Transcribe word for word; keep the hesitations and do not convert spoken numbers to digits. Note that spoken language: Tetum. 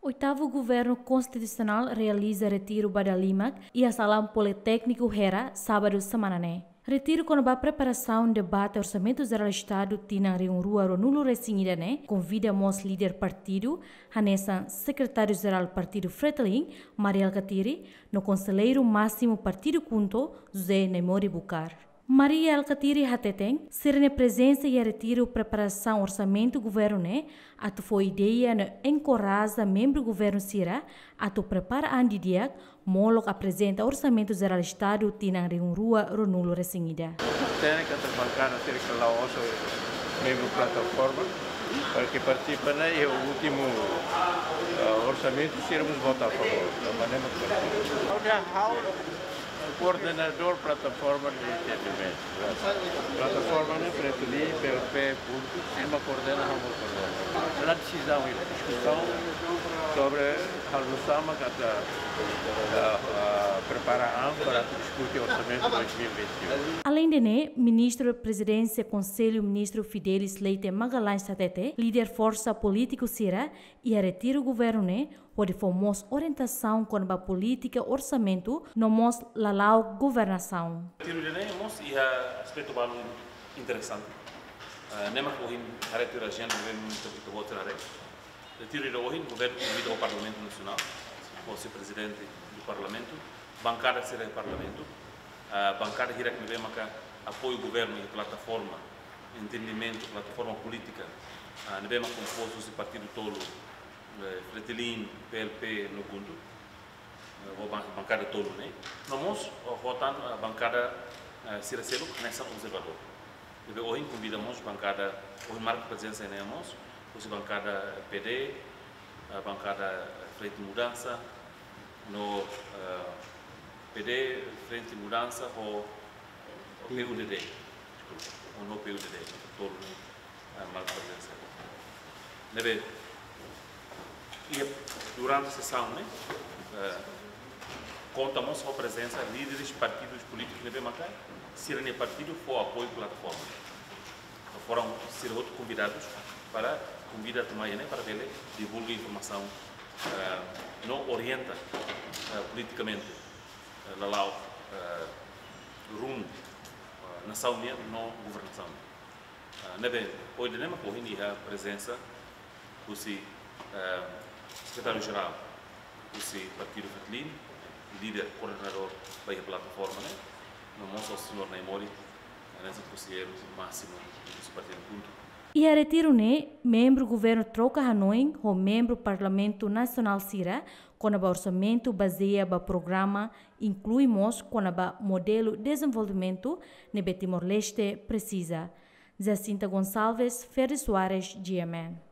Oitavu Governu Konstitusionál realiza retiru ba dalimak iha Salaun Politékniku Hera, sábadu semana ne'e. Retiru kona-ba preparasaun debate Orsamentu Jerál Estadu tinan rihun rua ruanulu-resin-ida ne'e konvida mós líder partidu, hanesan Sekretáriu Jerál Partidu Fretilin, Mari Alkatiri, no Konselleiru Másimu Partidu KHUNTO, José Naimori Bucar. Mari Alkatiri hateten, sira-nia prezensa iha retiru preparasaun orsamentu governu ne'e atu fó ideia no enkoraja membru governu sira atu prepara an didi'ak, molok aprezenta Orsamentu Jerál Estadu tinan rihun rua ruanulu-resin-ida. Tenke atu bankada sira ke la'ós membru plataforma, para ke partisipa ona iha últimu, eh, orsamentu sira mós vota a favór. Tanba ne'e mak partisipa. Ha'u dehan ha'u koordenadór plataforma de entendimentu. Plataforma ne'e Fretilin, PLP, KHUNTO, ema koordena, ha'u mós koordena. La desizaun i diskusaun sobre halo nu'usá mak atu, ah, ah, prepara an para diskute orsamentu dois mil e vinte e um. Aleinde ne'e, Ministru Prezidénsia Konsellu Ministru Fidelis Leite Magalhães hatete, líder forsa polítiku sira iha retiru governu ne'e hodi fó mós orientasaun kona-ba polítika orsamentu no mós lala'ok governasaun. Retiru ida-ne'e mós iha aspetu balu interesante. Ah, ne'e mak ohin haree tiha ona ajenda ne'ebé ministru ita-boot sira haree. Retiru ida ohin, governu konvida ho Parlamentu Nasionál, ho Vise-Prezidente do Parlamentu, bankada sira iha Parlamentu, ah, bankada hirak ne'ebé maka apoia governu iha plataforma, entendimentu, plataforma polítika, ah, ne'ebé mak kompostu husi partidu tolu, eh, Fretilin, PLP no KHUNTO, eh, ho ban-, bankada tolu ne'e. No mós, oh, ho tan, eh, bankada, eh, sira seluk hanesan observadór. Ne'ebé ohin konvida mós bankada, ohin marka prezensa ne'e mós, husi bankada PD, eh, bankada Frente Mudansa, no, eh, PD, Frente Mudansa, ho PUDD, deskulpa, ho no PUDD, tolu ne'e, eh, marka prezensa. Ne'ebé, iha durante sesaun ne'e, eh, konta mós ho prezensa líderes partidus polítikus ne'ebé maka sira-nia partidu fó apoiu plataforma. Foram sira hotu konvidadus para konvida tuma iha ne'e para bele divulga informasaun, eh, no orienta, eh, politikamente, eh, lala'ok, eh, rumu, eh, nasaun nian no governasaun. Ah, ne'ebé, ohin ne'e mak ohin iha prezensa husi, eh, Sekretáriu Jerál husi Partidu Fretilin, líder koordenadór ba iha plataforma ne'e, no mós ho señór Naimori, hanesan konselleiru másimu husi Partidu KHUNTO. Iha retiru ne'e, membru governu troka hanoin ho membru Parlamentu Nasionál sira kona-ba orsamentu bazeia ba programa, inklui mós kona-ba modelu dezenvolvimentu ne'ebé Timor-Leste presiza. Jacinta Gonçalves, Ferdi Soares, G M N.